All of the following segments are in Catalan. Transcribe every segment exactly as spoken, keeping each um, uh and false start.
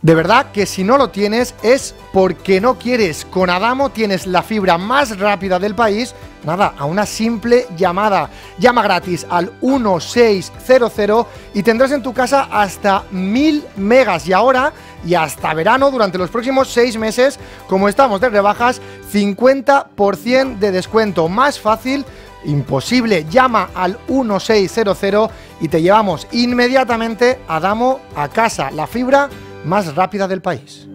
De verdad que si no lo tienes es porque no quieres. Con Adamo tienes la fibra más rápida del país, nada, a una simple llamada. Llama gratis al uno seis cero cero y tendrás en tu casa hasta mil megas. Y ahora, y hasta verano, durante los próximos seis meses, como estamos de rebajas, cincuenta por ciento de descuento. Más fácil imposible. Llama al uno seis cero cero y te llevamos inmediatamente a Adamo a casa. La fibra más rápida del país.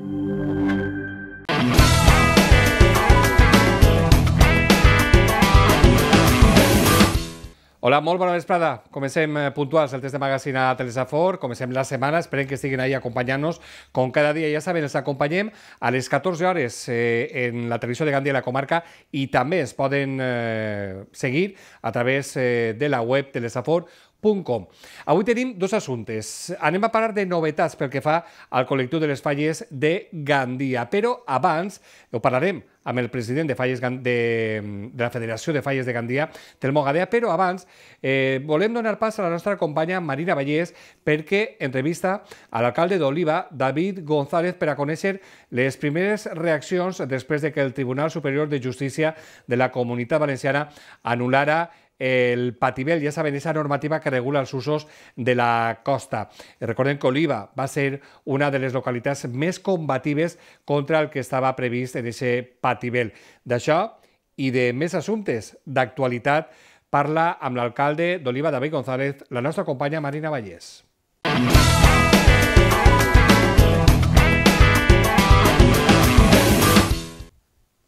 Hola, molt bona vesprada. Comencem puntuals el test de magazine a Telesafor. Comencem la setmana. Esperem que estiguin ahí acompanyant-nos. Com cada dia, ja saben, els acompanyem a les catorze hores eh, en la televisió de Gandia i la comarca i també es poden eh, seguir a través eh, de la web telesafor punt com. Avui tenim dos assumptes. Anem a parlar de novetats pel que fa al col·lectiu de les falles de Gandia, però abans ho parlarem amb el president de, falles de, de la Federació de Falles de Gandia, Telmo Gadea, però abans eh, volem donar pas a la nostra companya Marina Vallès perquè entrevista a l'alcalde d'Oliva, David González, per a conèixer les primeres reaccions després de que el Tribunal Superior de Justícia de la Comunitat Valenciana anul·lara el Patibel, ja saben, esa normativa que regula els usos de la costa. Recordem que Oliva va ser una de les localitats més combatives contra el que estava previst en aquest Patibel. D'això i de més assumptes d'actualitat parla amb l'alcalde d'Oliva, David González, la nostra companya Marina Vallès.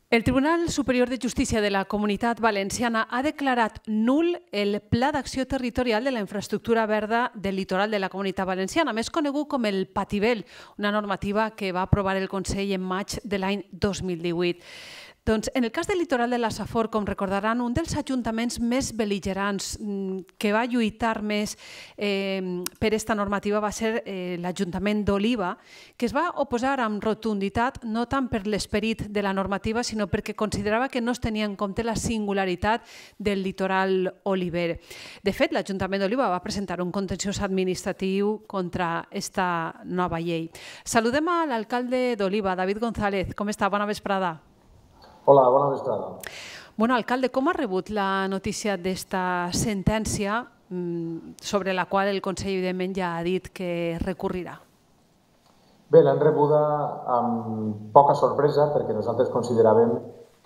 El Tribunal Superior de Justícia de la Comunitat Valenciana ha declarat nul el Pla d'Acció Territorial de la Infraestructura Verda del Litoral de la Comunitat Valenciana, més conegut com el Patibel, una normativa que va aprovar el Consell en maig de l'any dos mil divuit. Doncs, en el cas del litoral de la Safor, com recordaran, un dels ajuntaments més bel·ligerants que va lluitar més eh, per aquesta normativa va ser eh, l'Ajuntament d'Oliva, que es va oposar amb rotunditat, no tant per l'esperit de la normativa, sinó perquè considerava que no es tenia en compte la singularitat del litoral oliver. De fet, l'Ajuntament d'Oliva va presentar un contenciós administratiu contra aquesta nova llei. Saludem a l'alcalde d'Oliva, David González. Com està? Bona vesprada. Hola, bona vesprada. Bueno, alcalde, com ha rebut la notícia d'esta sentència sobre la qual el Consell, evidentment, ja ha dit que recurrirà? Bé, l'hem rebuda amb poca sorpresa perquè nosaltres consideràvem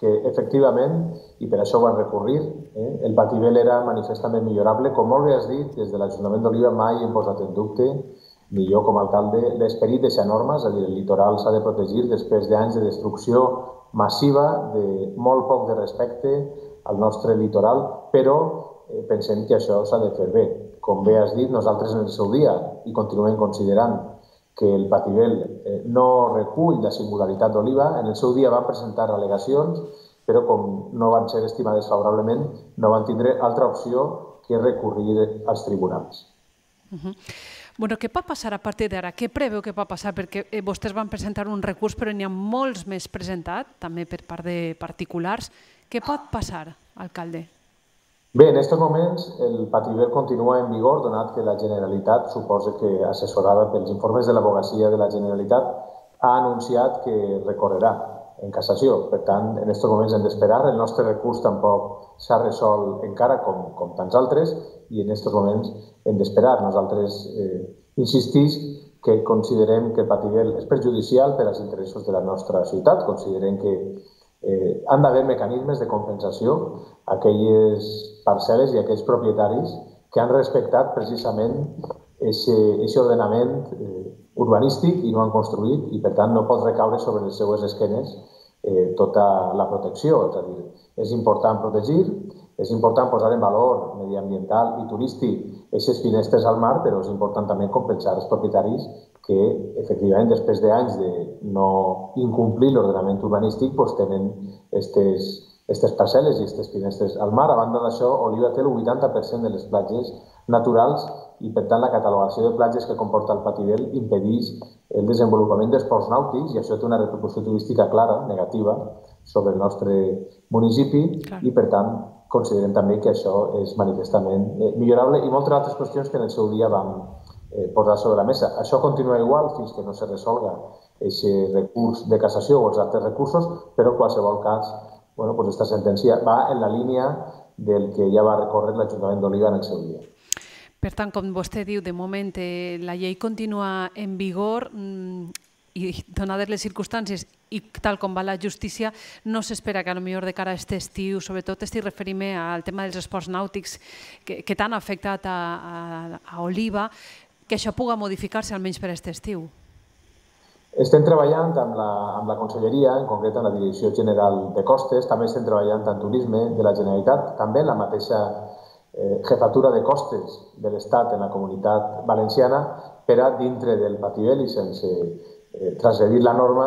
que, efectivament, i per això ho van recurrir, eh, el Patibel era manifestament millorable. Com molt bé has dit, des de l'Ajuntament d'Oliva mai hem posat en dubte, ni jo com a alcalde, l'esperit d'aquesta norma, és a dir, el litoral s'ha de protegir després d'anys de destrucció massiva, de molt poc de respecte al nostre litoral, però eh, pensem que això s'ha de fer bé. Com bé has dit, nosaltres en el seu dia i continuem considerant que el Patibel eh, no recull la singularitat d'Oliva. En el seu dia van presentar al·legacions, però com no van ser estimades favorablement, no van tindre altra opció que recurrir als tribunals. Uh-huh. Bueno, què pot passar a partir d'ara? Què preveu que pot passar? Perquè vostès van presentar un recurs, però n'hi ha molts més presentats, també per part de particulars. Què pot passar, alcalde? Bé, en aquests moments el Patibel continua en vigor, donat que la Generalitat, suposa que assessorada pels informes de l'Advocacia de la Generalitat, ha anunciat que recorrerà en cassació. Per tant, en aquests moments hem d'esperar. El nostre recurs tampoc s'ha resolt encara, com, com tants altres, i en aquests moments hem d'esperar. Nosaltres eh, insistís que considerem que el Patibel és perjudicial per als interessos de la nostra ciutat. Considerem que eh, han d'haver mecanismes de compensació a aquelles parcel·les i a aquells propietaris que han respectat precisament aquest ordenament eh, urbanístic i no han construït, i per tant no pot recaure sobre les seues esquenes eh, tota la protecció. És a dir, és important protegir, és important posar en valor mediambiental i turístic aquestes finestres al mar, però és important també compensar els propietaris que, efectivament, després d'anys de no incomplir l'ordenament urbanístic, doncs tenen aquestes parcel·les i aquestes finestres al mar. A banda d'això, Oliva té el vuitanta per cent de les platges naturals i, per tant, la catalogació de platges que comporta el Patibel impedeix el desenvolupament d'esports nàutics i això té una repercussió turística clara, negativa, sobre el nostre municipi i, per tant, considerem també que això és manifestament millorable i moltes altres qüestions que en el seu dia vam, posar sobre la mesa. Això continua igual fins que no se resolga aquest recurs de cassació o els altres recursos, però en qualsevol cas, bueno, pues esta sentència va en la línia del que ja va recórrer l'Ajuntament d'Oliva en el seu dia. Per tant, com vostè diu, de moment la llei continua en vigor i, donades les circumstàncies i tal com va la justícia, no s'espera que potser de cara a aquest estiu, sobretot estic referint-me al tema dels esports nàutics que t'han afectat a Oliva, que això pugui modificar-se almenys per aquest estiu. Estem treballant amb la Conselleria, en concret amb la Direcció General de Costes, també estem treballant en turisme de la Generalitat, també en la mateixa jefatura de costes de l'Estat en la Comunitat Valenciana per a, dintre del Patibel i sense transgredir la norma,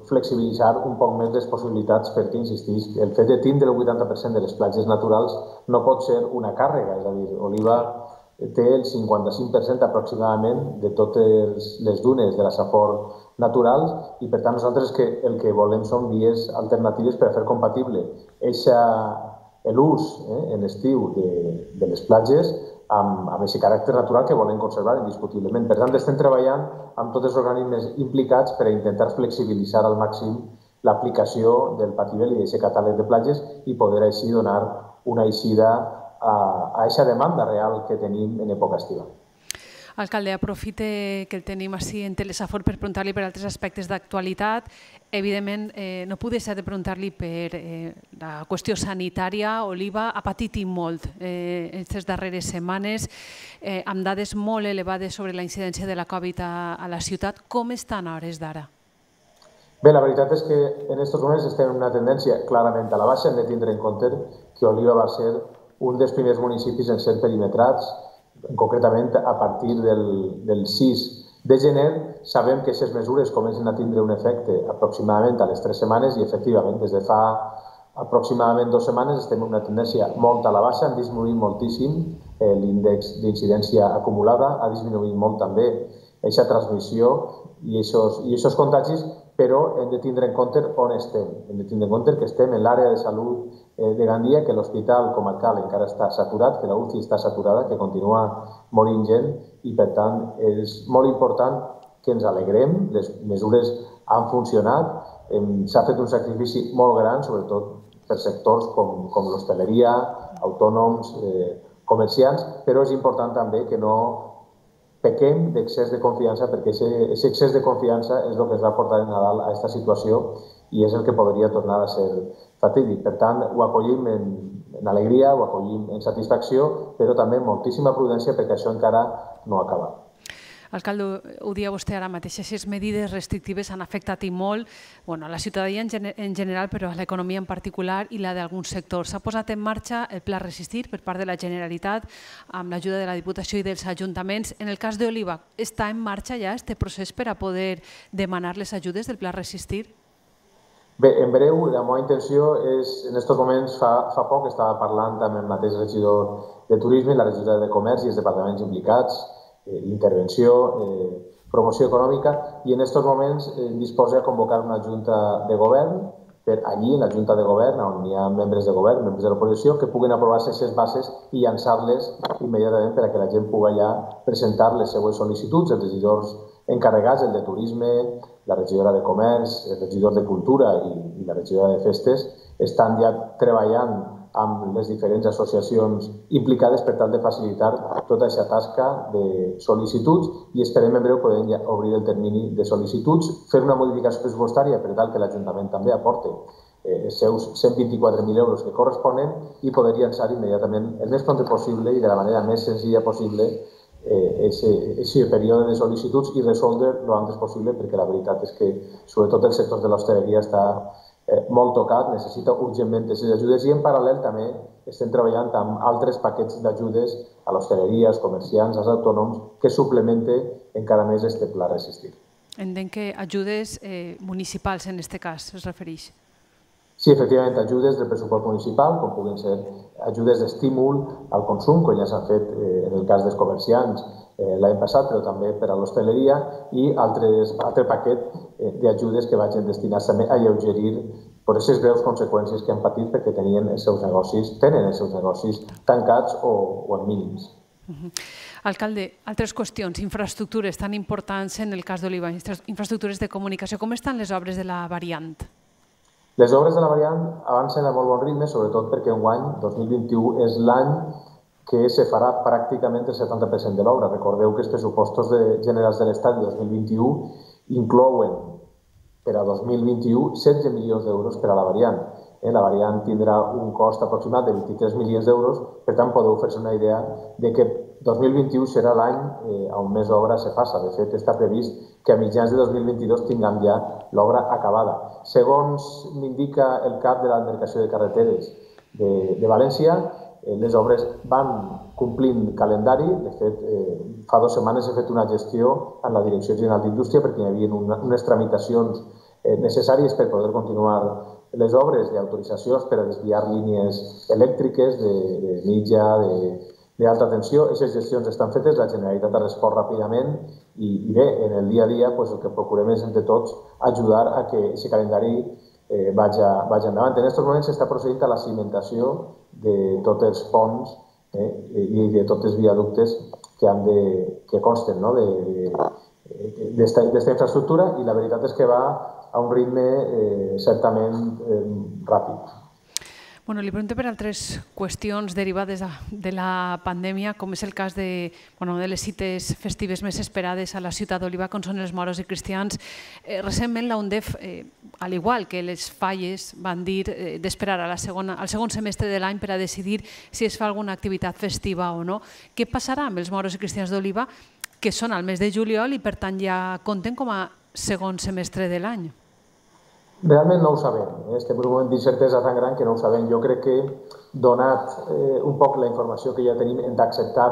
flexibilitzar un poc més les possibilitats perquè, insistís, el fet de tindre el vuitanta per cent de les platges naturals no pot ser una càrrega, és a dir, Oliva té el cinquanta-cinc per cent aproximadament de totes les dunes de la Safor naturals i, per tant, nosaltres el que volem són vies alternatives per a fer compatible l'ús en l'estiu de les platges amb aquest caràcter natural que volem conservar indiscutiblement. Per tant, estem treballant amb tots els organismes implicats per a intentar flexibilitzar al màxim l'aplicació del Patibel i d'aquest catàleg de platges i poder així donar una eixida a aquesta demanda real que tenim en època estiva. Alcalde, aprofite que el tenim així en Telesafor per preguntar-li per altres aspectes d'actualitat. Evidentment, no puc deixar de preguntar-li per la qüestió sanitària. Oliva ha patit i molt aquestes darreres setmanes, amb dades molt elevades sobre la incidència de la Covid a la ciutat. Com estan a hores d'ara? Bé, la veritat és que en aquests moments estem en una tendència clarament a la baixa. Hem de tindre en compte que Oliva va ser un dels primers municipis en ser perimetrats, concretament a partir del sis de gener. Sabem que aquestes mesures comencen a tindre un efecte aproximadament a les tres setmanes i, efectivament, des de fa aproximadament dues setmanes estem en una tendència molt a la baixa, han disminuït moltíssim l'índex d'incidència acumulada, ha disminuït molt també aquesta transmissió i aquests contagis, però hem de tindre en compte on estem. Hem de tindre en compte que estem en l'àrea de salut de Gandia, que l'hospital comarcal encara està saturat, que la U C I està saturada, que continua morint gent i, per tant, és molt important que ens alegrem. Les mesures han funcionat, s'ha fet un sacrifici molt gran, sobretot per sectors com l'hostaleria, autònoms, comerciants, però és important també que no pequem d'excés de confiança, perquè aquest excés de confiança és el que es va portar en Nadal a aquesta situació i és el que podria tornar a ser fatídic. Per tant, ho acollim en alegria, ho acollim en satisfacció, però també amb moltíssima prudència perquè això encara no ha acabat. Alcalde, ho dia vostè ara mateix, aquestes medides restrictives han afectat i molt a la ciutadania en general, però a l'economia en particular i la d'alguns sectors. S'ha posat en marxa el Pla Resistir per part de la Generalitat amb l'ajuda de la Diputació i dels ajuntaments. En el cas d'Oliva, està en marxa ja aquest procés per a poder demanar les ajudes del Pla Resistir? Bé, en breu, la meva intenció és, en aquests moments, fa poc, estava parlant amb el mateix regidor de Turisme i la regidora de Comerç i els departaments implicats, intervenció, promoció econòmica, i en aquests moments disposa de convocar una junta de govern per allí, en la junta de govern, on hi ha membres de govern, membres de l'oposició, que puguin aprovar-se aquestes bases i llançar-les immediatament per a que la gent pugui allà presentar les seues sol·licituds. Els regidors encarregats, el de Turisme, la regidora de Comerç, el regidor de Cultura i la regidora de Festes, estan ja treballant amb les diferents associacions implicades per tal de facilitar tota aquesta tasca de sol·licituds i esperem en breu poder obrir el termini de sol·licituds, fer una modificació pressupostària per tal que l'Ajuntament també aporte els seus cent vint-i-quatre mil euros que corresponen i poder llançar immediatament el més pront possible i de la manera més senzilla possible aquest període de sol·licituds i resoldre el antes possible, perquè la veritat és que sobretot el sector de l'hostaleria està molt tocat, necessita urgentment aquestes ajudes i en paral·lel també estem treballant amb altres paquets d'ajudes a l'hostaleria, als comerciants, als autònoms, que suplementen encara més aquest Pla Resistir. Entenc que ajudes municipals en aquest cas es refereix. Sí, efectivament, ajudes del pressupost municipal, com puguin ser ajudes d'estímul al consum, com ja s'ha fet en el cas dels comerciants l'any passat, però també per a l'hostaleria, i altre paquet d'ajudes que vagin destinats també a alleugerir per aquestes greus conseqüències que han patit perquè tenien els seus negocis, tenen els seus negocis tancats o en mínims. Alcalde, altres qüestions, infraestructures tan importants en el cas d'Oliva, infraestructures de comunicació. Com estan les obres de la variant? Les obres de la variant avancen a molt bon ritme, sobretot perquè enguany, dos mil vint-i-u, és l'any que se farà pràcticament el setanta per cent de l'obra. Recordeu que els pressupostos generals de l'Estat de dos mil vint-i-u inclouen per a dos mil vint-i-u setze milions d'euros per a la variant. La variant tindrà un cost aproximat de vint-i-tres milions d'euros, per tant podeu fer-se una idea de que dos mil vint-i-u serà l'any on més obra se faça. De fet, està previst que a mitjans de dos mil vint-i-dos tinguem ja l'obra acabada. Segons m'indica el cap de la Demarcació de Carreteres de València, les obres van complint calendari. De fet, fa dues setmanes he fet una gestió en la Direcció General d'Indústria perquè hi havia unes tramitacions necessàries per poder continuar les obres d'autoritzacions per a desviar línies elèctriques de mitja, d'alta tensió. Aquestes gestions estan fetes, la Generalitat ha respost ràpidament i bé, en el dia a dia el que procurem és entre tots ajudar a que aquest calendari vagi endavant. En aquests moments s'està procedint a la cimentació de tots els ponts i de tots els viaductes que consten d'esta infraestructura i la veritat és que va a un ritme certament ràpid. Bueno, li pregunto per altres qüestions derivades de la pandèmia, com és el cas de les cites festives més esperades a la ciutat d'Oliva, com són els moros i cristians. Recentment la UNDEF, al igual que les falles, van dir d'esperar al segon semestre de l'any per a decidir si es fa alguna activitat festiva o no. Què passarà amb els moros i cristians d'Oliva, que són al mes de juliol i per tant ja compten com a segon semestre de l'any? Realment no ho sabem. Estem en un moment d'incertesa tan gran que no ho sabem. Jo crec que, donat un poc la informació que ja tenim, hem d'acceptar,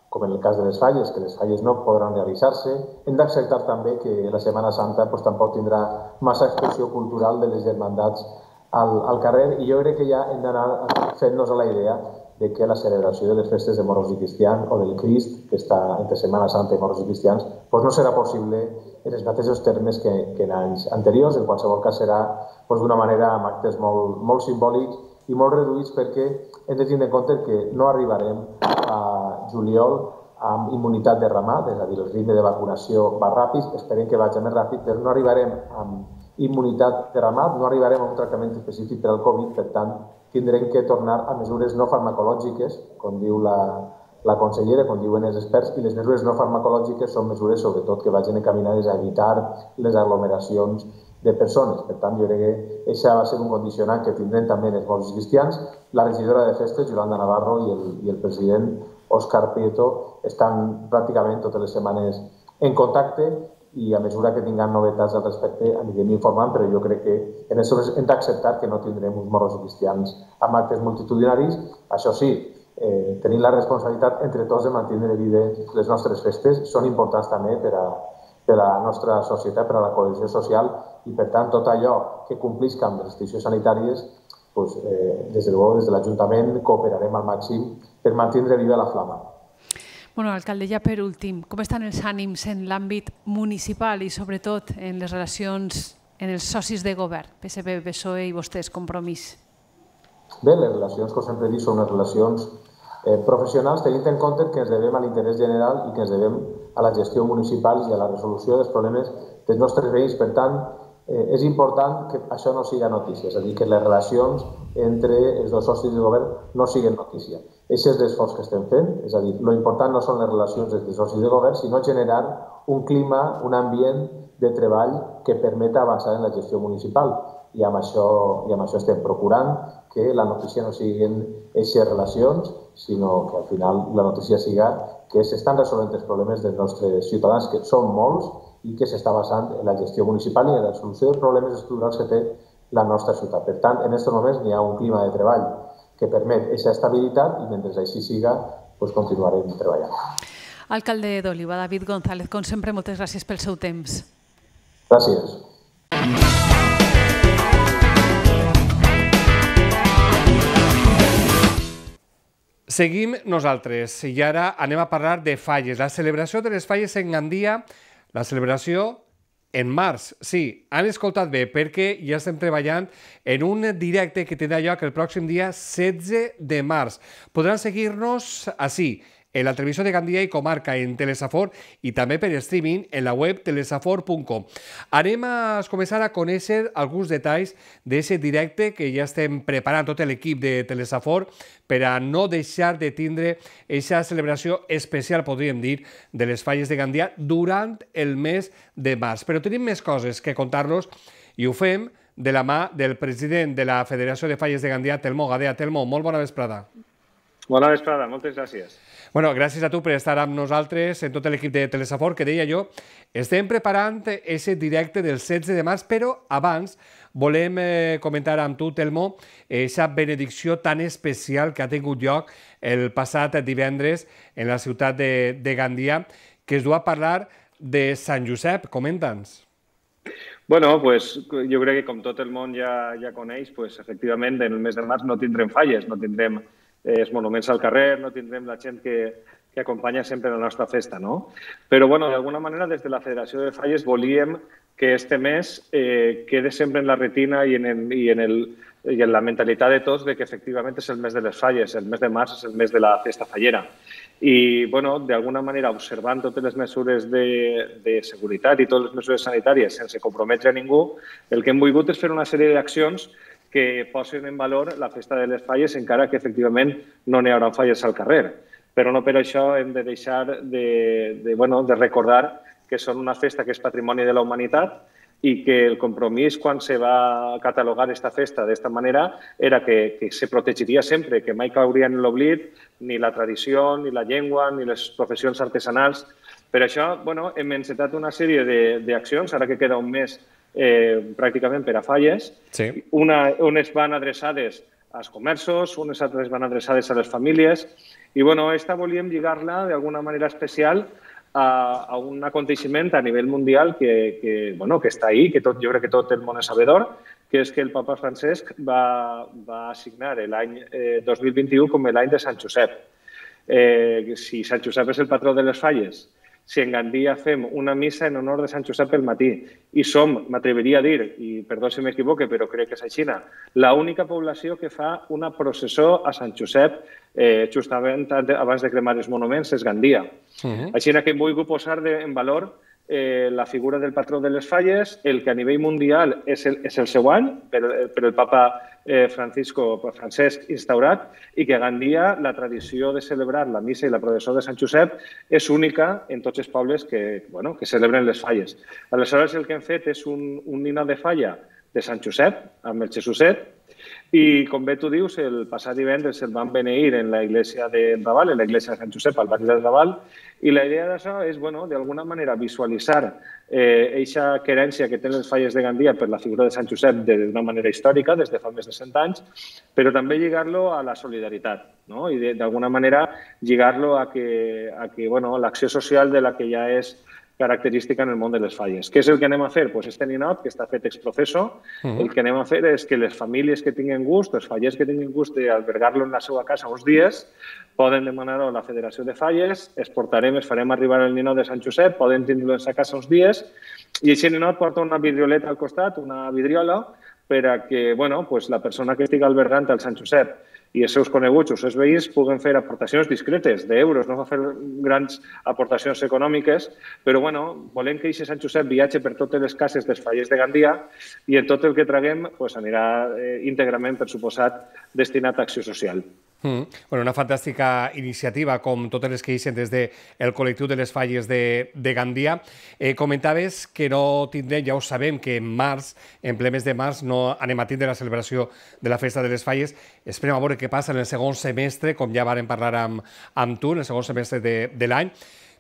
com en el cas de les falles, que les falles no podran realitzar-se, hem d'acceptar també que la Setmana Santa tampoc tindrà massa expressió cultural de les germandats al carrer i jo crec que ja hem d'anar fent-nos a la idea de que la celebració de les festes de moros i cristians o del Crist, que està entre Setmana Santa i moros i cristians, no serà possible en els mateixos termes que en anys anteriors. En qualsevol cas serà d'una manera amb actes molt simbòlics i molt reduïts perquè hem de tindre en compte que no arribarem a juliol amb immunitat de ramat, és a dir, el ritme de vacunació va ràpid, esperem que vagi més ràpid, però no arribarem amb immunitat de ramat, no arribarem a un tractament específic per al Covid, per tant, tindrem que tornar a mesures no farmacològiques, com diu la consellera, com diuen els experts, i les mesures no farmacològiques són mesures, sobretot, que vagin encaminades a evitar les aglomeracions de persones. Per tant, jo crec que això va ser un condicionant que tindrem també els moros cristians. La regidora de festes, Yolanda Navarro, i el president Òscar Prieto estan pràcticament totes les setmanes en contacte i a mesura que tinguem novetats al respecte anirem informant, però jo crec que en això hem d'acceptar que no tindrem uns moros cristians amb actes multitudinaris. Això sí, tenim la responsabilitat entre tots de mantenir vives les nostres festes, són importants també per a la nostra societat, per a la cohesió social i per tant tot allò que complisca amb les restriccions sanitàries, des de l'Ajuntament cooperarem al màxim per mantenir viva la flama. Bueno, alcalde, ja per últim, com estan els ànims en l'àmbit municipal i sobretot en les relacions en els socis de govern, P S C, P S O E i vostès, Compromís? Bé, les relacions, com sempre dic, són unes relacions professionals, tenint en compte que ens devem a l'interès general i que ens devem a la gestió municipal i a la resolució dels problemes dels nostres veïns. Per tant, és important que això no siga notícia, és a dir, que les relacions entre els dos socis de govern no siguin notícia. Aquest és l'esforç que estem fent, és a dir, l'important no són les relacions entre els socis de govern, sinó generar un clima, un ambient de treball que permeta avançar en la gestió municipal. I amb això estem procurant que la notícia no siguin aquestes relacions, sinó que al final la notícia siga que s'estan resolent els problemes dels nostres ciutadans, que són molts, i que s'està basant en la gestió municipal i en la solució dels problemes estructurals que té la nostra ciutat. Per tant, en aquests moments hi ha un clima de treball que permet aquesta estabilitat i mentre així siga, continuarem treballant. Alcalde d'Oliva, David González, com sempre, moltes gràcies pel seu temps. Gràcies. Seguim nosaltres i ara anem a parlar de falles. La celebració de les falles en Gandia, la celebració en març. Sí, han escoltat bé perquè ja estem treballant en un directe que tindrà lloc el pròxim dia setze de març. Podran seguir-nos així, en la televisió de Gandia i comarca en Telesafor i també per streaming en la web telesafor punt com. Anem a començar a conèixer alguns detalls d'aquest directe que ja estem preparant tot l'equip de Telesafor per a no deixar de tindre aquesta celebració especial, podríem dir, de les falles de Gandia durant el mes de març. Però tenim més coses que contar-los i ho fem de la mà del president de la Federació de Falles de Gandia, Telmo Gadea. Telmo, molt bona vesprada. Bona vesprada, moltes gràcies. Bueno, gràcies a tu per estar amb nosaltres, en tot l'equip de Telesafor, que deia jo, estem preparant aquest directe del setze de març, però abans volem eh, comentar amb tu, Telmo, aquesta benedicció tan especial que ha tingut lloc el passat divendres en la ciutat de, de Gandia, que es du a parlar de Sant Josep. Comenta'ns. Bueno, pues, jo crec que com tot el món ja, ja coneix, pues, efectivament, en el mes de març no tindrem falles, no tindrem els monuments al carrer, no tindrem la gent que, que acompanya sempre la nostra festa, no? Però, bueno, d'alguna manera, des de la Federació de Falles volíem que este mes eh, quede sempre en la retina i en, el, i, en el, i en la mentalitat de tots de que efectivament és el mes de les falles, el mes de març és el mes de la festa fallera. I, bueno, d'alguna manera, observant totes les mesures de, de seguretat i totes les mesures sanitàries sense comprometre a ningú, el que hem volgut és fer una sèrie d'accions que posen en valor la festa de les falles, encara que efectivament no n'hi haurà falles al carrer. Però no per això hem de deixar de, de, bueno, de recordar que són una festa que és patrimoni de la humanitat i que el compromís quan se va catalogar aquesta festa d'esta manera era que, que se protegiria sempre, que mai cauria en l'oblit ni la tradició, ni la llengua, ni les professions artesanals. Per això, bueno, hem encetat una sèrie d'accions, ara que queda un mes eh, pràcticament per a falles. Sí. Una, unes van adreçades als comerços, unes altres van adreçades a les famílies. I, bueno, esta volíem lligar-la d'alguna manera especial a, a un aconteixement a nivell mundial que, que, bueno, que està ahí, que tot, jo crec que tot el món és sabedor, que és que el papa Francesc va, va assignar l'any eh, dos mil vint-i-u com l'any de Sant Josep. Eh, si Sant Josep és el patró de les falles, si en Gandia fem una missa en honor de Sant Josep pel matí i som, m'atreviria a dir, i perdó si m'equivoque, però crec que és així, l'única població que fa una processó a Sant Josep eh, justament abans de cremar els monuments és Gandia. Uh-huh. Així que hem volgut posar de, en valor eh, la figura del patró de les falles, el que a nivell mundial és el, és el seu any, per, per el papa eh, Francisco Francesc instaurat, i que a Gandia la tradició de celebrar la missa i la processó de Sant Josep és única en tots els pobles que, bueno, que celebren les falles. Aleshores, el que hem fet és un, un nino de falla de Sant Josep, amb el Jesuset, i, com bé tu dius, el passat divendres el van beneir en la iglesia de Raval, en la iglesia de Sant Josep, al barri de Raval, i la idea d'això és, bueno, d'alguna manera visualitzar aquesta eh, querència que tenen les falles de Gandia per la figura de Sant Josep d'una manera històrica, des de fa més de cent anys, però també lligar-lo a la solidaritat, no? I d'alguna manera lligar-lo a que, a que bueno, l'acció social de la que ja és característica en el món de les falles. Què és el que anem a fer? Pues este ninot, que està fet ex professo, uh-huh. El que anem a fer és que les famílies que tinguin gust, els fallers que tinguin gust d'albergar-lo en la seva casa uns dies, poden demanar-ho a la Federació de Falles, es portarem, es farem arribar el ninot de Sant Josep, poden tindre-lo en sa casa uns dies, i aquest ninot porta una vidrioleta al costat, una vidriola, per a que, bueno, pues la persona que estigui albergant al Sant Josep i els seus coneguts o els seus veïns puguen fer aportacions discretes d'euros, no va fer grans aportacions econòmiques, però bueno, volem que aquest Sant Josep viatge per totes les cases dels fallers de Gandia i en tot el que traguem pues, anirà eh, íntegrament, per suposat, destinat a acció social. Mm. Bueno, una fantàstica iniciativa, com totes les que eixen des del col·lectiu de les falles de, de Gandia. Eh, comentaves que no tindrem, ja ho sabem, que en març, en ple mes de març, no anem a tindre la celebració de la festa de les falles. Esperem a veure què passa en el segon semestre, com ja vàrem parlar amb, amb tu, en el segon semestre de, de l'any.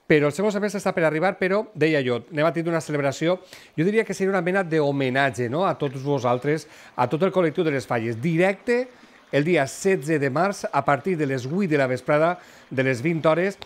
Però el segon semestre està per arribar, però, deia jo, anem a tindre una celebració, jo diria que seria una mena d'homenatge, no?, a tots vosaltres, a tot el col·lectiu de les falles, directe el dia setze de març, a partir de les vuit de la vesprada, de les vint hores,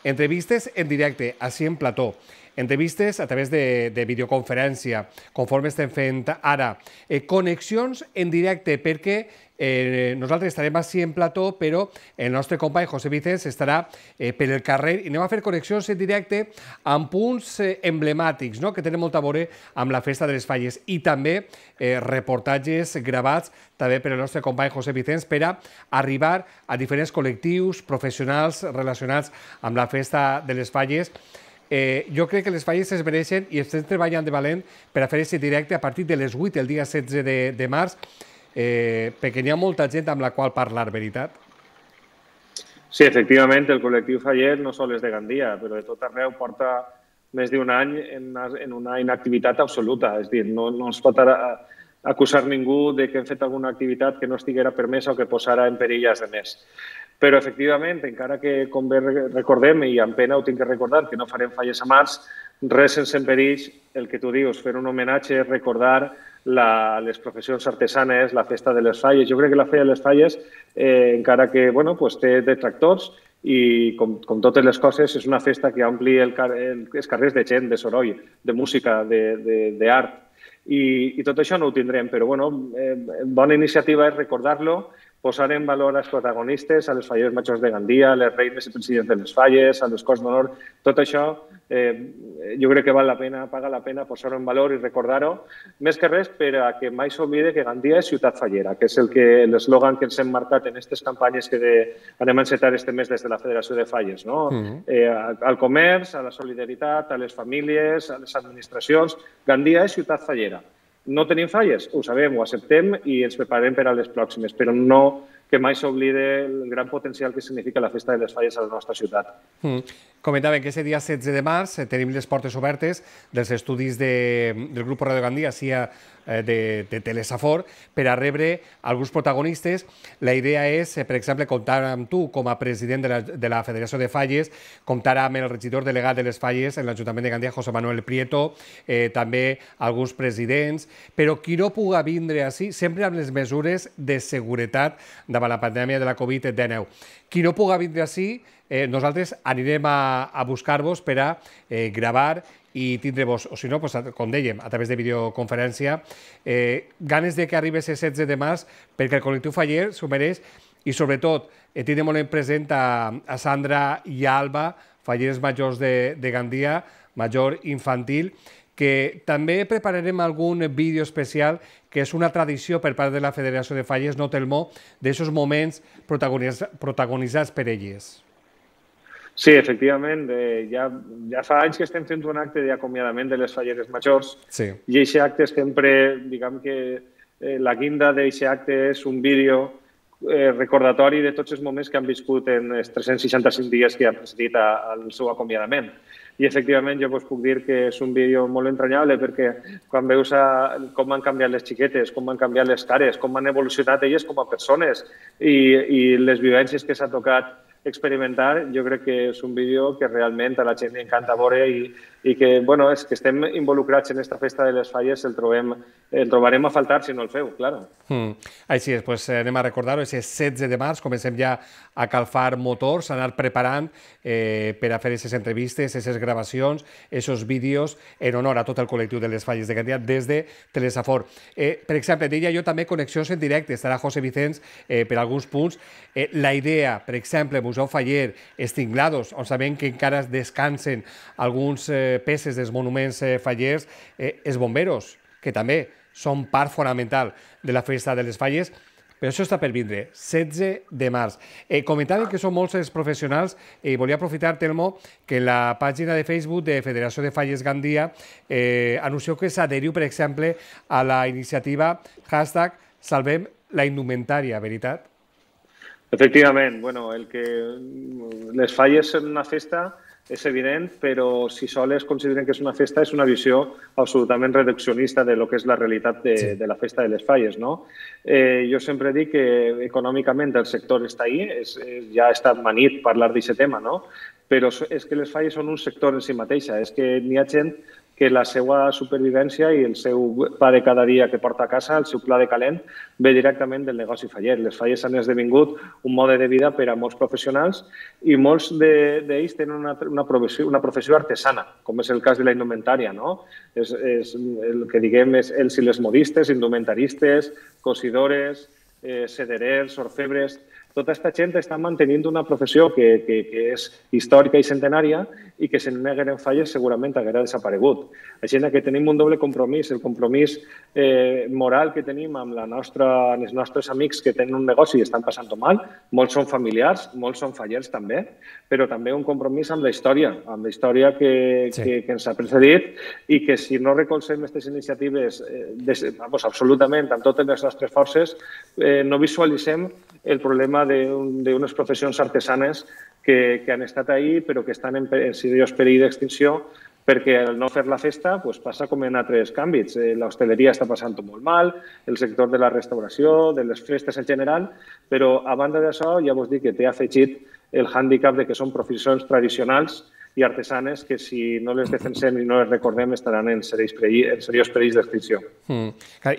entrevistes en directe, així en plató, entrevistes a través de, de videoconferència, conforme estem fent ara, eh, connexions en directe, perquè Eh, nosaltres estarem així en plató, però el nostre company José Vicens estarà eh, per el carrer i anem a fer connexions en directe amb punts eh, emblemàtics, no?, que tenen molt a veure amb la Festa de les Falles, i també eh, reportatges gravats també per el nostre company José Vicens per a arribar a diferents col·lectius professionals relacionats amb la Festa de les Falles. Eh, jo crec que les Falles es mereixen i estem treballant de valent per a fer aquest directe a partir de les vuit el dia setze de, de març, eh, perquè hi ha molta gent amb la qual parlar, veritat? Sí, efectivament, el col·lectiu Faller no sol és de Gandia, però de tot arreu porta més d'un any en una, en una inactivitat absoluta. És a dir, no, no es pot ara acusar ningú de que hem fet alguna activitat que no estiguera permesa o que posara en perill als altres. Però, efectivament, encara que, com bé recordem, i amb pena ho tinc que recordar, que no farem falles a març, res sense en perill, el que tu dius, fer un homenatge, recordar la, les professions artesanes, la festa de les falles. Jo crec que la festa de les falles, eh, encara que bueno, pues, té detractors, i com, com totes les coses, és una festa que ompli el, el, els carrers de gent, de soroll, de música, d'art. I, I tot això no ho tindrem, però bueno, eh, bona iniciativa és recordar-lo, posar en valor als protagonistes, a les falles majors de Gandia, a les reines i presidents de les falles, a les Corts d'Honor. Tot això eh, jo crec que val la pena, paga la pena posar-ho en valor i recordar-ho, més que res per a que mai s'oblide que Gandia és ciutat fallera, que és el que l'eslògan que ens hem marcat en aquestes campanyes que de, anem a encetar este mes des de la Federació de Falles, no? Uh-huh. eh, al comerç, a la solidaritat, a les famílies, a les administracions. Gandia és ciutat fallera. No tenim falles, ho sabem, ho acceptem i ens preparem per a les pròximes, però no que mai s'oblide el gran potencial que significa la Festa de les Falles a la nostra ciutat. Mm. Comentàvem que aquest dia setze de març eh, tenim les portes obertes dels estudis de, del grup Radio Gandia, sia eh, de, de Telesafor, per a rebre alguns protagonistes. La idea és, eh, per exemple, comptar amb tu com a president de la, de la Federació de Falles, comptar amb el regidor delegat de les Falles en l'Ajuntament de Gandia, José Manuel Prieto, eh, també alguns presidents, però qui no puga vindre així, sempre amb les mesures de seguretat davant la pandèmia de la Covid dinou. Qui no puga vindre així, eh, nosaltres anirem a, a buscar-vos per a eh, gravar i tindre-vos, o si no, pues, com dèiem, a través de videoconferència, eh, ganes de que arribi el setze de març, perquè el col·lectiu Faller s'ho mereix i, sobretot, eh, tindrem molt en present a, a Sandra i a Alba, fallers majors de, de Gandia, major infantil, que també prepararem algun vídeo especial que és una tradició per part de la Federació de Falles, no Telmó, d'aquests moments protagonitzats per elles. Sí, efectivament, eh, ja, ja fa anys que estem fent un acte d'acomiadament de les falleres majors, sí. I aquest acte sempre, diguem que eh, la guinda d'aquest acte és un vídeo eh, recordatori de tots els moments que han viscut en els tres-cents seixanta-cinc dies que han precedit a, al seu acomiadament. I, efectivament, jo us puc dir que és un vídeo molt entranyable perquè quan veus a, com han canviat les xiquetes, com han canviat les cares, com han evolucionat elles com a persones i, i les vivències que s'ha tocat experimentar, jo crec que és un vídeo que realment a la gent li encanta veure i, i que, bueno, és que estem involucrats en aquesta festa de les falles, el, trobem, el trobarem a faltar si no el feu, clar. Mm. Així és, pues, anem a recordar-ho, és el setze de març, comencem ja a calfar motors, a anar preparant eh, per a fer aquestes entrevistes, aquestes gravacions, aquests vídeos en honor a tot el col·lectiu de les falles de Gandia des de Telesafor. Eh, per exemple, deia jo també connexions en directe, estarà José Vicens eh, per alguns punts. Eh, la idea, per exemple, Museu Faller, Estinglados, on sabem que encara descansen alguns eh, peces dels monuments eh, fallers, eh, els bomberos, que també són part fonamental de la festa de les falles, però això està per vindre, setze de març. Eh, comentàvem que són molts els professionals i volia aprofitar, Telmo, que en la pàgina de Facebook de Federació de Falles Gandia eh, anuncieu que s'adheriu, per exemple, a la iniciativa hashtag Salvem la Indumentària, veritat? Efectivament, bueno, el que les falles en una festa és evident, però si sols consideren que és una festa és una visió absolutament reduccionista de lo que és la realitat de, sí. de la festa de les falles, no? Eh, jo sempre dic que econòmicament el sector està ahí, és, ja ha estat manit parlar d'aquest tema, no? Però és que les falles són un sector en si mateixa, és que n'hi ha gent que la seva supervivència i el seu pa de cada dia que porta a casa, el seu pla de calent, ve directament del negoci faller. Les falles han esdevingut un mode de vida per a molts professionals i molts d'ells tenen una, una, professió, una professió artesana, com és el cas de la indumentària, no? És, és el que diguem és els i les modistes, indumentaristes, cosidores, eh, sederers, orfebres. Tota aquesta gent està mantenint una professió que, que, que és històrica i centenària i que si no hi hagueren falles segurament haguera desaparegut. Així que tenim un doble compromís, el compromís eh, moral que tenim amb, la nostra, amb els nostres amics que tenen un negoci i estan passant-ho mal, molts són familiars, molts són fallers també, però també un compromís amb la història, amb la història que, sí. que, que ens ha precedit i que si no recolzem aquestes iniciatives eh, des, vamos, absolutament amb totes les nostres forces, eh, no visualitzem el problema d'unes professions artesanes que, que han estat ahí però que estan en, en seriós perill d'extinció perquè al no fer la festa pues, passa com en altres àmbits. Eh, L'hostaleria està passant-ho molt mal, el sector de la restauració, de les festes en general, però a banda d'això ja vos dic que té afegit el hàndicap de que són professions tradicionals i artesanes que si no les defensem i no les recordem estaran en seriós perill, en seriós perill d'extinció. Mm.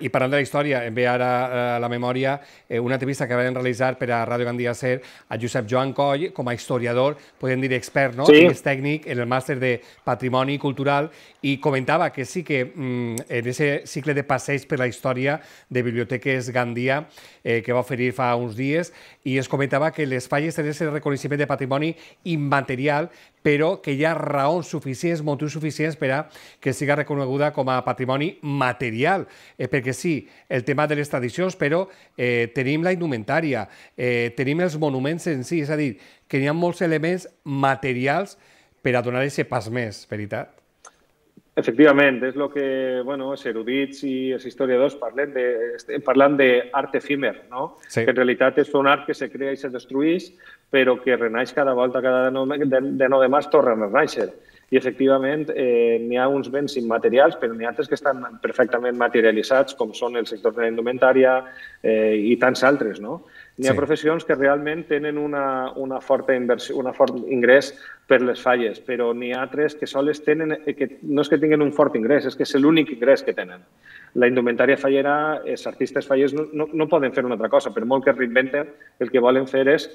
I parlant de la història, em ve ara a la memòria una entrevista que vam realitzar per a Ràdio Gandia Ser a Josep Joan Coll, com a historiador, podem dir expert, no? Sí. I és tècnic en el màster de Patrimoni Cultural i comentava que sí que mm, en aquest cicle de passeig per la història de Biblioteques Gandia eh, que va oferir fa uns dies i es comentava que les falles tenen el reconeixement de patrimoni immaterial però que hi ha raons suficients, motius suficients per a que siga reconeguda com a patrimoni material. Eh, perquè sí, el tema de les tradicions, però eh, tenim la indumentària, eh, tenim els monuments en si, és a dir, que hi ha molts elements materials per a donar aquest pas més, veritat? Efectivament, és el que bueno, els erudits i els historiadors parlen de, parlant d'art efímer, no? Sí. Que en realitat és un art que se crea i se destrueix, però que renaix cada volta, cada de nou de, de, nou de març tornen a renaixer. I, efectivament, eh, n'hi ha uns béns immaterials, però n'hi ha altres que estan perfectament materialitzats, com són el sector de la indumentària eh, i tants altres, no? N'hi ha sí. professions que realment tenen una, una forta inversió, una fort ingrés per les falles, però n'hi ha altres que soles tenen, que no és que tinguin un fort ingrés, és que és l'únic ingrés que tenen. La indumentària fallera, els artistes fallers no, no, no poden fer una altra cosa, per molt que reinventen, el que volen fer és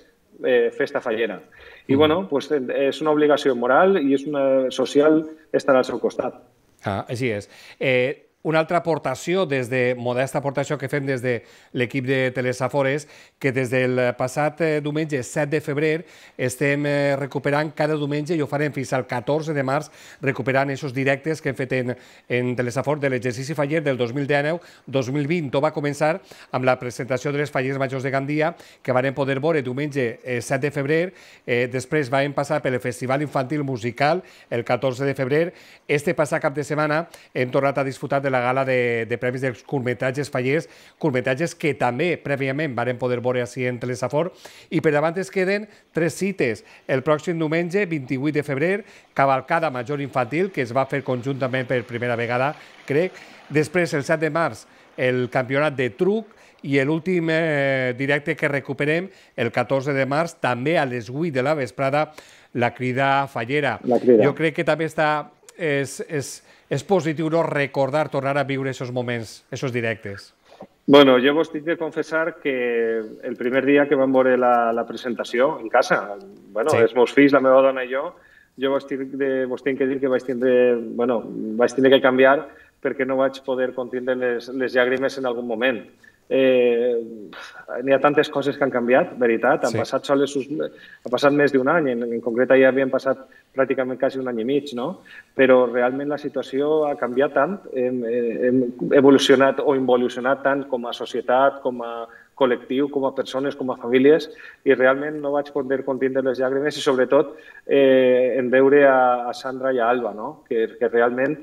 eh, festa fallera. I, mm. bueno, pues, és una obligació moral i és una social estar al seu costat. Ah, així és. Eh, Una altra aportació, des de modesta aportació que fem des de l'equip de Telesafor és que des del passat diumenge set de febrer estem recuperant cada diumenge i ho farem fins al catorze de març recuperant aquests directes que hem fet en, en Telesafor de l'exercici faller del dos mil dinou dos mil vint. Tot va començar amb la presentació de les fallers majors de Gandia que varen poder veure diumenge set de febrer. Eh, després vam passar pel Festival Infantil Musical el catorze de febrer. Este passat cap de setmana hem tornat a disfrutar de la gala de, de premis dels curtmetratges fallers, curtmetratges que també prèviament varen poder veure així en Telesafor, i per davant es queden tres cites. El pròxim diumenge, vint-i-vuit de febrer, cavalcada major infantil, que es va fer conjuntament per primera vegada, crec. Després, el set de març, el campionat de truc, i l'últim eh, directe que recuperem, el catorze de març, també a les vuit de la vesprada, la crida fallera. La crida. Jo crec que també està... És, és, és positiu no recordar, tornar a viure aquests moments, aquests directes. Bueno, jo vos tinc de confessar que el primer dia que vam veure la, la presentació en casa, bueno, sí. els meus fills, la meva dona i jo, jo vos tinc, de, vos tinc que dir que vaig tindre, bueno, vaig tindre que canviar perquè no vaig poder contindre les, les llàgrimes en algun moment. Eh, n'hi ha tantes coses que han canviat, veritat, han sí. passat soles, ha passat més d'un any, en, en concret ja havien passat pràcticament quasi un any i mig, no? Però realment la situació ha canviat tant, hem, hem evolucionat o involucionat tant com a societat, com a col·lectiu, com a persones, com a famílies, i realment no vaig poder contindre les llàgrimes i sobretot eh, en veure a, a Sandra i a Alba, no? que, que realment,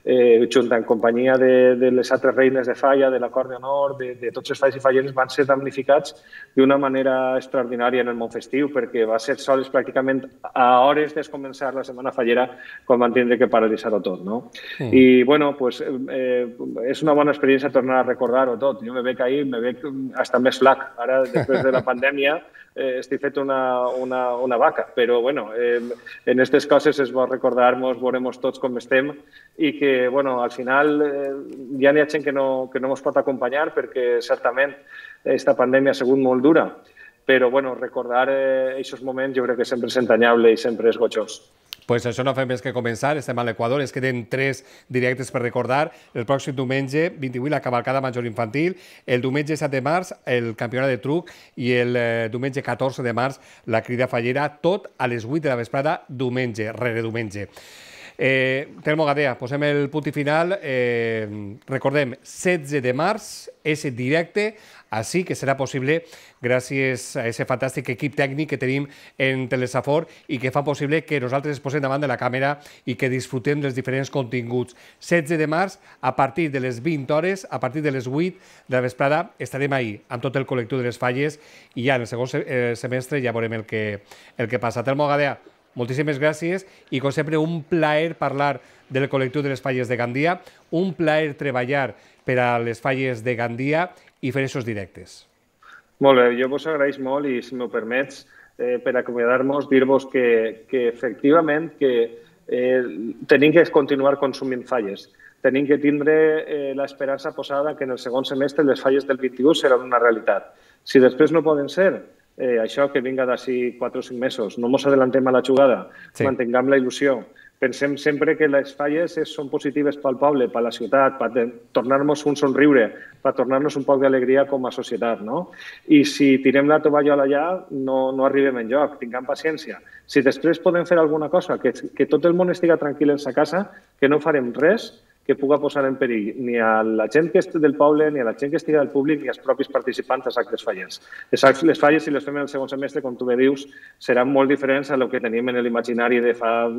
eh, junt en companyia de, de les altres reines de falla, de la Cort d'Honor, de, de tots els falls i falleres, van ser damnificats d'una manera extraordinària en el món festiu, perquè va ser sols pràcticament a hores de començar la setmana fallera quan van tindre que paralitzar-ho tot. No? Mm. I, bueno, pues, eh, és una bona experiència tornar a recordar-ho tot. Jo me veig ahir, me veig hasta més flac. Ara, després de la pandèmia, eh, estic fet una, una, una vaca. Però, bueno, eh, en aquestes coses es bo recordar-nos, veurem tots com estem i que, bueno, al final eh, ja n'hi ha gent que no, que no ens pot acompanyar perquè, certament, aquesta pandèmia ha sigut molt dura. Però, bueno, recordar aquests eh, moments jo crec que sempre és entranyable i sempre és gojós. Pues això no fem més que començar, estem a l'Equador, es queden tres directes per recordar. El pròxim diumenge, vint-i-vuit, la cavalcada major infantil, el diumenge set de març, el campionat de truc, i el eh, diumenge catorze de març, la crida fallera, tot a les vuit de la vesprada, diumenge, rere diumenge. Eh, Telmo Gadea, posem el punt i final. Eh, recordem, setze de març, ese directe, així que serà possible gràcies a aquest fantàstic equip tècnic que tenim en Telesafor i que fa possible que nosaltres es posem davant de la càmera i que disfrutem dels diferents continguts. setze de març, a partir de les vint hores, a partir de les vuit de la vesprada, estarem ahí amb tot el col·lectiu de les falles i ja en el segon semestre ja veurem el que, el que passa. Telmo Gadea, moltíssimes gràcies i, com sempre, un plaer parlar del col·lectiu de les falles de Gandia, un plaer treballar per a les falles de Gandia i fer aquests directes. Molt bé, jo vos agraeix molt i, si m'ho permets, eh, per acomiadar-nos, dir-vos que, que efectivament que eh, tenim que continuar consumint falles. Tenim que tindre eh, l'esperança posada que en el segon semestre les falles del vint-i-u seran una realitat. Si després no poden ser, eh, això que vinga d'ací quatre o cinc mesos, no ens adellantem a la jugada, sí. Mantinguem la il·lusió. Pensem sempre que les falles són positives pel poble, per la ciutat, per tornar-nos un somriure, per tornar-nos un poc d'alegria com a societat, no? I si tirem la tovallola allà, no, no arribem enlloc, tinguem paciència. Si després podem fer alguna cosa, que, que tot el món estigui tranquil en sa casa, que no farem res que puga posar en perill ni a la gent que estigui del poble, ni a la gent que estigui del públic, ni als propis participants dels actes fallers. Les falles, si les fem en el segon semestre, com tu bé dius, seran molt diferents a lo que tenim en l'imaginari de fa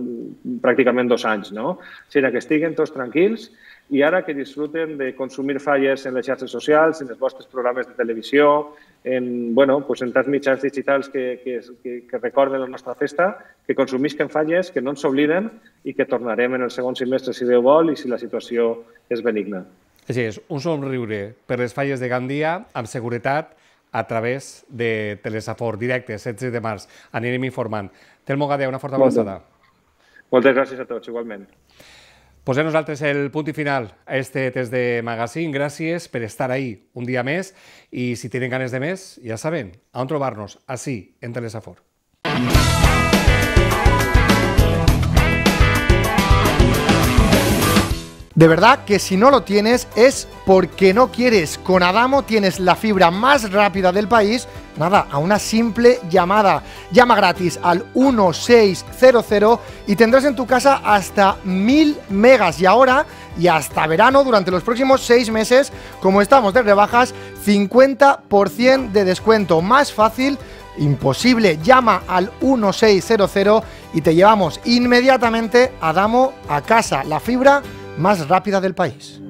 pràcticament dos anys, no? O sigui, que estiguen tots tranquils i ara que disfruten de consumir falles en les xarxes socials, en els vostres programes de televisió, en, bueno, pues en tants mitjans digitals que, que, que, que recorden la nostra festa, que consumisquen falles, que no ens obliden i que tornarem en el segon semestre si Déu vol i si la situació és benigna. Així és, un somriure per les falles de Gandia amb seguretat a través de Telesafor, directe, setze de març. Anirem informant. Telmo Gadea, una forta abraçada. Moltes gràcies a tots, igualment. Posem nosaltres el punt i final a este test de magazine. Gràcies per estar ahí un dia més i si tenen ganes de més, ja saben on trobar-nos, així, en Telesafor. De verdad que si no lo tienes es porque no quieres. Con Adamo tienes la fibra más rápida del país, nada, a una simple llamada. Llama gratis al uno seis cero cero y tendrás en tu casa hasta mil megas. Y ahora, y hasta verano, durante los próximos seis meses, como estamos de rebajas, cincuenta por ciento de descuento. Más fácil, imposible. Llama al uno seis cero cero y te llevamos inmediatamente Adamo a casa. La fibra más rápida del país.